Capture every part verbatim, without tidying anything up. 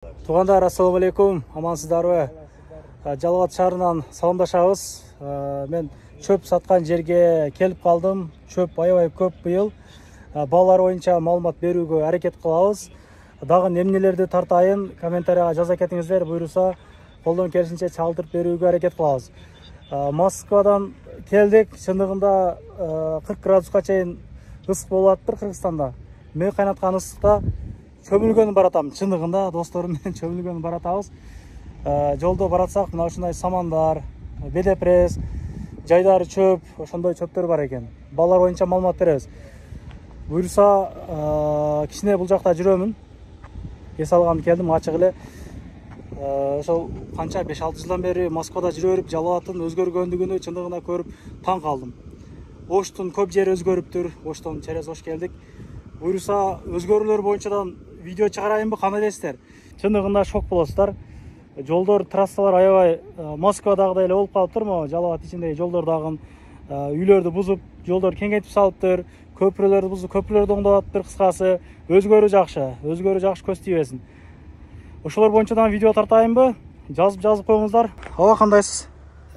Туугандар, ассаламу алейкум, амансыздарбы? Жалал Абад шаарынан саламдашабыз. Мен чөп саткан жерге келип калдым. Чөп аябай көп быйыл. Балалар боюнча маалымат берүүгө аракет кылабыз. Дагы эмнелерди тартайын, комментарийга жаза кетиңиздер, буйруса колдон келишинче чалдырып берүүгө аракет кылабыз. Москвадан келдик. Чындыгында кырк градуска чейин ысык болуп атыптыр Кыргызстанда. Мен кайнаткан ысыкта чөмүлгөнү баратам. Чындыгында досторум менен чөмүлгөнү баратабыз. Жолдо баратсак, мына ушундай самандар, бедепресс, жайдары чөп, ошондой чөптөр бар экен. Балалар боюнча маалымат беребиз. Буюрса, кичине бул жакта жүрөмүн. Эс алгам келдим, ачык эле. Ошол канча беш алты жылдан бери Москвада жүрө берип, Жалал Абадтын өзгөргөндүгүнү чындыгында көрүп таң калдым. Оштун көп жери өзгөрүптүр. Оштон через Ош келдик. Буюрса, өзгөрүүлөр боюнчадан видео чыгарайынбы, кандай дейсиздер? Чындыгында шок болосуздар. Жолдор, трассалар аябай Москвадагыдай эле болуп калыптыр, могу Жалал Абад ичиндеги жолдор дагы үйлөрдү бузуп, жолдорду кеңейтип салыптыр, көпүрөлөрдү бузуп, көпүрөлөрдү оңдоп атыптыр. Кыскасы, өзгөрүү жакшы, өзгөрүү жакшы, көз тийбесин. Ошолор боюнчадан видео тартайынбы? Жазып жазып коюңуздар. Ооба, кандайсыз?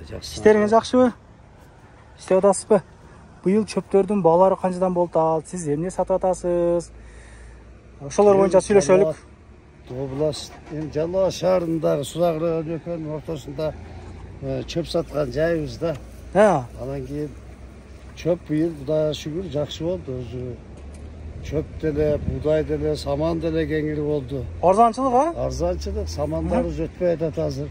Жакшы. Иштериңиз жакшыбы? Иштеп атасызбы? Быйыл чөптөрдүн баалары канчадан болуп атат? Сиз эмне сатып атасыз? Ошолор боюнча сүйлөшөлүк. Область, Жалал Абад шаарындагы Сузагыр өлкөнүн ортосунда чөп саткан жайыбыз да. Анан кийин чөп быйыл Кудайга шүгүр жакшы болду. Өзү чөп деле, буудай деле, саман деле кеңири болду. Арзанчылык, а? Арзанчылык, самандар жетпей атат азыр.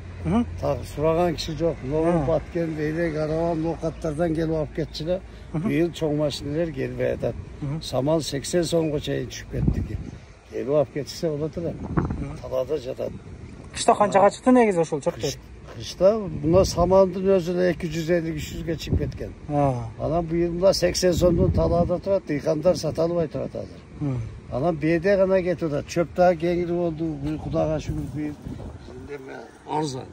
Так сураган киши жок. Ногун баткен, элек араван ноокаттардан келип алып кетчүлөр. Быйыл чоң машиналар келбей атат. Саман сексен сомго чейин түшүп кетти. Келип алып кетсе болот эле. Талаада жатат. Кышта канчага чыкты негизи ошол чөптөр? Кышта мына самандын өзү эле эки жүз элүү үч жүзгө чыгып кеткен. Анан быйыл мына сексен сомдон талаада турат, дыйкандар сата албай турат азыр. Анан бээде гана кетип атат. Чөп дагы кеңири болду. Кудайга шүгүр быйыл арзан.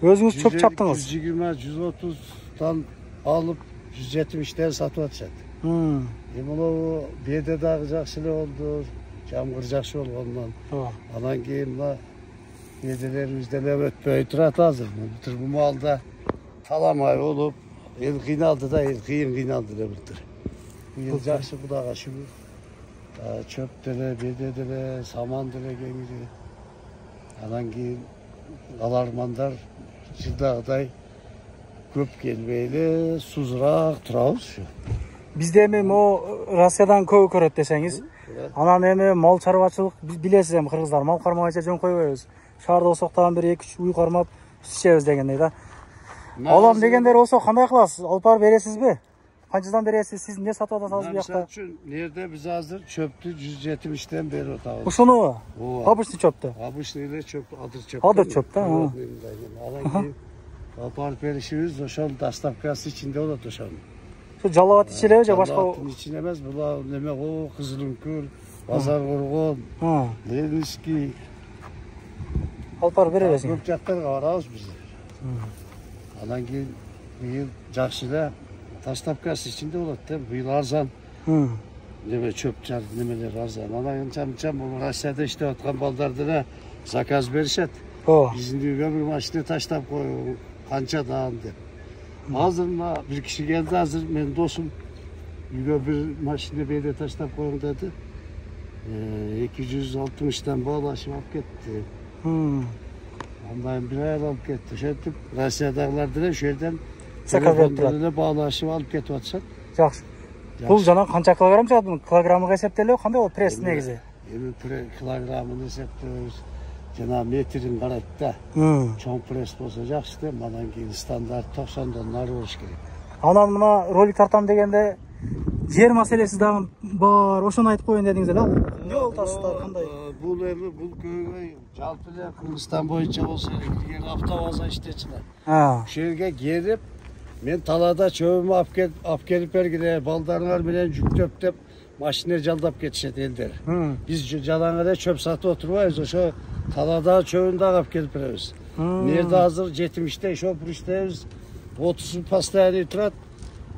Өзүңүз чөп чаптыңыз? жүз жыйырма жүз отуздан алып жүз жетимиштен сатып атышат. Эмне бээде дагы жакшы эле болду. Жамгыр жакшы болгондон. Анан кийин мына бээделерибиз деле өтпөй турат азыр. Былтыр бул маалда таламай болуп, эл кыйналды да, эл кыйын кыйналды эле былтыр. Быйыл жакшы, Кудайга шүгүр. Чөп деле, бээде деле, саман деле кеңири. Анан кийин алармандар жылдагыдай көп келбей эле, сузураак турабыз ушу. Бизде эми могу Россиядан көп көрөт десеңиз. Анан эми мал чарбачылык, билесиз эми кыргыздар мал кармагайча жөн койбойбуз. Шаарда болсок дагы бир эки үч уй кармап ичебиз дегендей да. Алам дегендер болсо кандай кыласыз? Алып барып бересизби? Канчадан бересиз? Сиз эмне сатып атасыз бу жакта? Нерде биз азыр чөптү жүз жетимиштен берип атабыз. Ошонубу? Обычный чөптү. Обычный эле чөп, адыр чөп. Адыр чөп да. Анан кийин алып барып беришибиз ошол доставкасы ичинде болот ошол. Ошо Жалал Абад ичи элеби же башка? Жалал Абадтын ичинде эмес, бул неме го, Кызылөңкүр, Базар Коргон, Ленинский. Алып барып бере бересиң. Көп жактарга барабыз биз. Анан кийин быйыл жакшы эле доставкасы ичинде болот да, быйыл арзан. Неме чөп жар немелер арзан. Анан чам-чам бул Россияда иштеп аткан балдар деле заказ беришет. Биздин үйгө бир машина таштап кой, канчадан деп. Азыр мына бир киши келди, азыр менин досум үйгө бир машина бээде таштап коюң деди. эки жүз алтымыштан баалашып алып кетти. Андан бир ай алып кетти. Ошентип Россиядагылар деле ошол жерден заказ берип турат. Деле баалашып алып кетип атышат. Жакшы. Бул жана канча килограмм чыгат? Килограммга эсептелеби? Кандай болот пресс негизи? Эми килограммын эсептебиз. Жана метрин карайт да. Чоң пресс болсо жакшы да, андан кийин стандарт токсондон нары болуш керек. Анан мына ролик тартам дегенде жер маселеси дагы бар. Ошону айтып коеюн дедиңиз эле. Эмне болуп атасыздар, кандай? Бул эми бул көйгөй жалпы эле Кыргызстан боюнча болсо керек, автобаза иштечилер. Ошол жерге келип, мен талаада чөбүмү алып келип, алып келип бергиле, балдарыңар менен жүктөп деп машина жалдап кетишет элдер. Биз жалаң эле чөп сатып отурбайбыз, ошо талаада чөбүн дагы алып келип беребиз. Нерде азыр жетимиште шопур иштейбиз, отуз постоянный турат.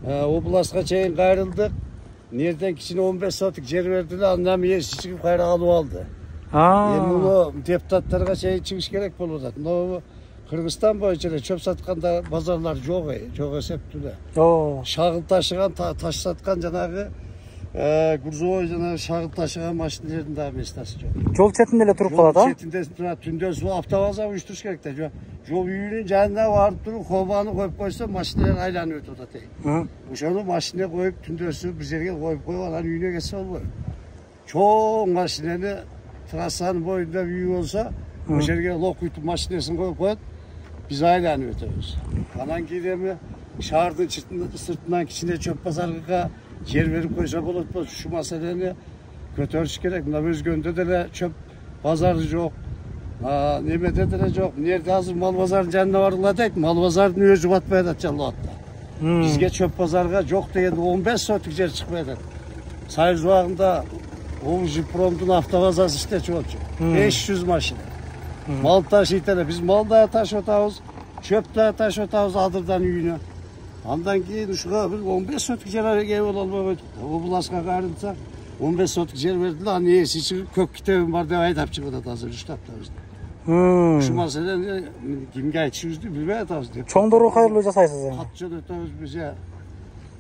Областка чейин кайрылдык. Нерден кичине он беш сотик жер берди эле, андан эси чыгып кайра алып алды. Эми муну депутаттарга чейин чыгыш керек болуп атат. Мына Кыргызстан боюнча эле чөп сатканда базарлар жок, жок эсептүү эле. Оо. Шагыл ташыган, таш саткан жанагы грузовой жана шагыл ташыган машиналердин дагы местасы жок. Жол четинде эле туруп калат, а? Жол четинде турат, түндөн суу автобаза уюштуруш керек да. Жол үйүнүн жанына барып туруп, хобаны коюп койсо, машиналар айланып өтүп атат. Ошону машина коюп, түндөн суу бир жерге коюп коюп, анан үйүнө кетсе болбойт. Чоң машинени трассанын боюнда үй болсо, ошол жерге локуйт машинасын коюп коет, биз айланып өтөбүз. Анан кийин эми шаардын сыртынан кичине чөп базарга жер берип койсо болот болчу. Ушу маселени көтөрүш керек. Мына өзгөндө деле чөп базары жок. Немеде деле жок. Мынерде азыр мал базарынын жанына баргыла дейт, мал базарынын өзү батпай атат Жалал абадта. Бизге чөп базарга жок дегенде он беш сотук жер чыкпай атат. Союз убагында Облжипромдун автобазасы иштечү болчу. беш жүз машина. Мал ташыйт эле. Биз мал да ташып атабыз, чөп да ташып атабыз адырдан үйүнө. Андан кийин ушуга бир он беш сотук жер ээ боло албайбыз. Областка кайрылсак он беш сотук жер берди, анын ээси чыгып көк китебим бар деп айдап чыгып атат азыр штабтабыз. Ушу маселени кимге айтышыбызды билбей атабыз деп. Чоңдорго кайрылуу жасайсыз эми. Кат жөнөтөбүз биз.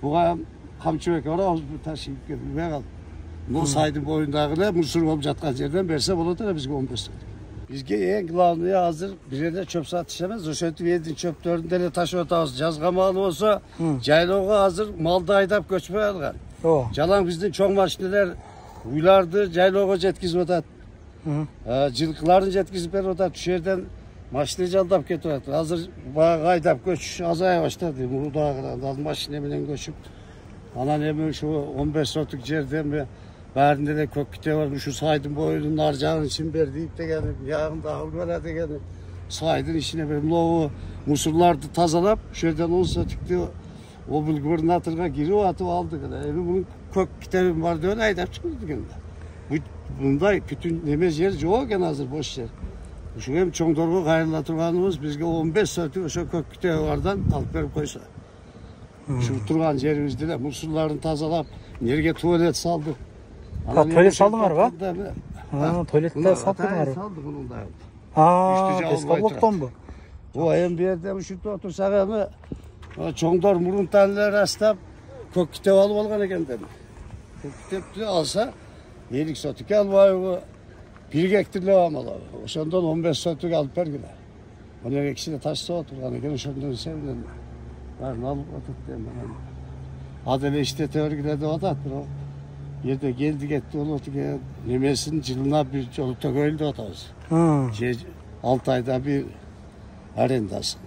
Буга камчыбекке барабыз, ташыйып келип билбей калдык. Бул сайдын боюндагы эле мусор болуп жаткан жерден берсе болот эле бизге он беш сотук. Бизге эң главный азыр бир жерде чөп сатыш эмес, ошентип элдин чөптөрүн деле ташып атабыз. Жазга мал болсо, жайлоого азыр малды айдап көчпөй алган. Жалаң биздин чоң машиналар уйларды жайлоого жеткизип атат. Жылкыларын жеткизип берип атат. Ушул жерден машина жалдап кетип атат. Азыр баягы айдап көчүш азая баштады. Мурдагы машина менен көчүп. Анан эми ушу он беш сотук жерден бәрінде де көк ките бар, ушу сайдын боюнун нар жагын ичин бер дейт деген, ягында ал бара деген, сайдын ичине бер мулу мусорларды тазалап, ошол жерден он сотукту обл губернаторго кирип атып алдык эле. Эми мунун көк китебим бар деп айдап чыгып экен. Мындай бүтүн неме жер жок экен азыр, бош жер. Ушуга эми чоңдорго кайрыла турганыбыз бизге он беш сотук ошо көк китеби бардан алып берип койсо. Ушу турган жерибизди эле мусорларын тазалап, жерге туалет салдык. Туалет салдыңарбы? Туалетте салдыңарбы? Салдык мунун да. А, эскоблоктонбу? О, эми бу жерде ушинтип отурсак эми чоңдор мурунтан эле ырастап көк китеп алып алган экен деп. Көк китепти алса элүү сотукка албайбы? бир гектарлап амалабы. Ошондон он беш сотук алып бергиле. Мына кичине ташса отурган экен, ошондон себептен баарын алып атат эми. Аделе иштете бергиле деп атат, бирок жерде келди кетти болот экен. Немесин жылына бир жолу төгөйлү деп атабыз. Же алты айда бир арендасын.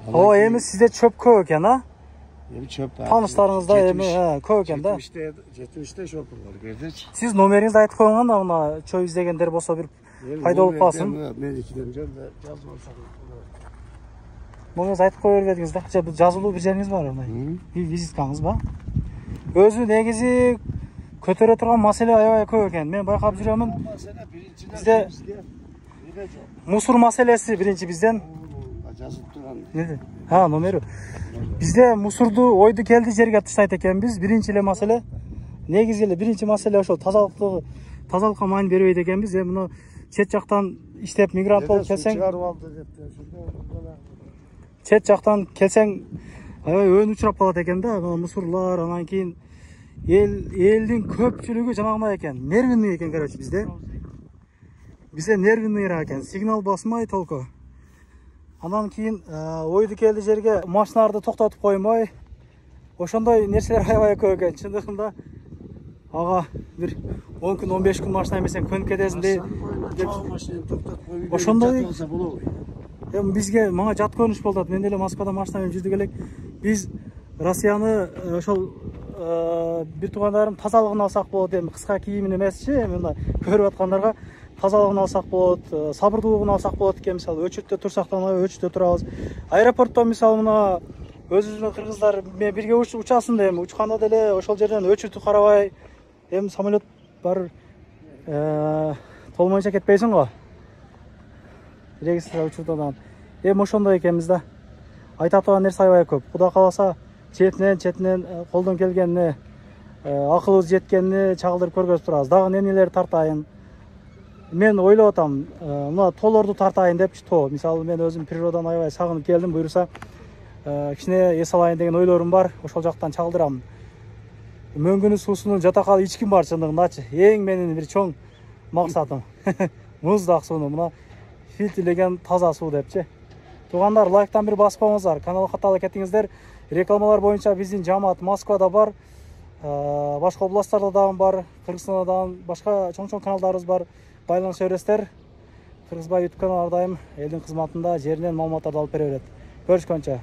О, эми сизде чөп көп экен, а? Эми чөп бар. Таныштарыңызда эми көп экен да. жетимиште шопур бар бердичи. Сиз номериңизди айтып койгон да, мына чөп издегендер болсо бир пайда болуп калсын. Меникиден жөнүндө жазып алсам. Номеринизди айтып кое бербедиңиз да. Жазылуу бир жериңиз бар мындай. Визиткаңыз ба? Өзү негизи көтөрө турган маселе аябай көп экен. Мен байкап жүрөмүн. Бизде мусор маселеси биринчи бизден жазылып турган. Неде? Ha, номери. Бизде мусорду ойду келди жерге таштайт экенбиз. Биринчи эле маселе. Негизи эле биринчи маселе ошол тазалыкты тазалыкка маани бербейт экенбиз. Эми муну чет жактан иштеп мигрант болуп келсең, чет жактан келсең аябай өөн учурап калат экен да, мусорлар, анан кийин эл элдин көпчүлүгү жанагындай экен. Нервный экен, короче, бизде. Бизде нервный экен, сигнал басмай толку. Анан кийин ойду келди жерге машиналарды токтотуп коймой, ошондой нерселер аябай көп экен. Чындыгында ага бир он күн он беш күн машина эмесең көнүп кетесиң деп машинаны токтотуп койбой ошондой болсо болобу? Эми бизге мага жат көрүнүш болуп атат. Мен деле Москвада машина менен жүрдүк элек. Биз Россияны ошол бир туугандарым тазалыгын алсак болот, эми кыска кийимин эмесчи, эми мына көрүп аткандарга тазалыгын алсак болот, сабырдуулугун алсак болот экен. Мисалы өчүттө турсак да өчүттө турабыз. Аэропортто мисалы мына өзүбүздүн кыргыздар менен бирге учасың да, эми учканда деле ошол жерден өчүттү карабай, эми самолет бар толмойча кетпейсиң го. Регистр учурдан. Эми ошондой экенбиз да. Айта турган нерсе аябай көп. Кудай кааласа, четинен четинен колдон келгенini, акылыбыз жеткенini чагылдырып көргөзүп турабыз. Дагы эмнелер тартайын. мен ойлоп атам, мына тоолорду тартайын депчи. Тоо мисалы мен өзүм природаны аябай сагынып келдим. Буюрса кичине эс алайын деген ойлорум бар. Ошол жактан чалдырам. Мөңгүнү суусунун жатакалы ичким бар чындыгындачы. Эң менин бир чоң максатым. Муздак сууну мына фильтрлеген таза суу депчи. Туугандар, лайктан бир басып коюңуздар. Каналга катталып кетиңиздер. Рекламалар боюнча биздин жамаат Москвада бар. Башка областтарда дагы бар. Кыргызстанда дагы башка чоң-чоң каналдарыбыз бар. Байланыша бересиздер. Кыргызбай YouTube каналы ар дайым элдин кызматында жеринен маалыматтарды алып бере берет. Көрүшкөнчө.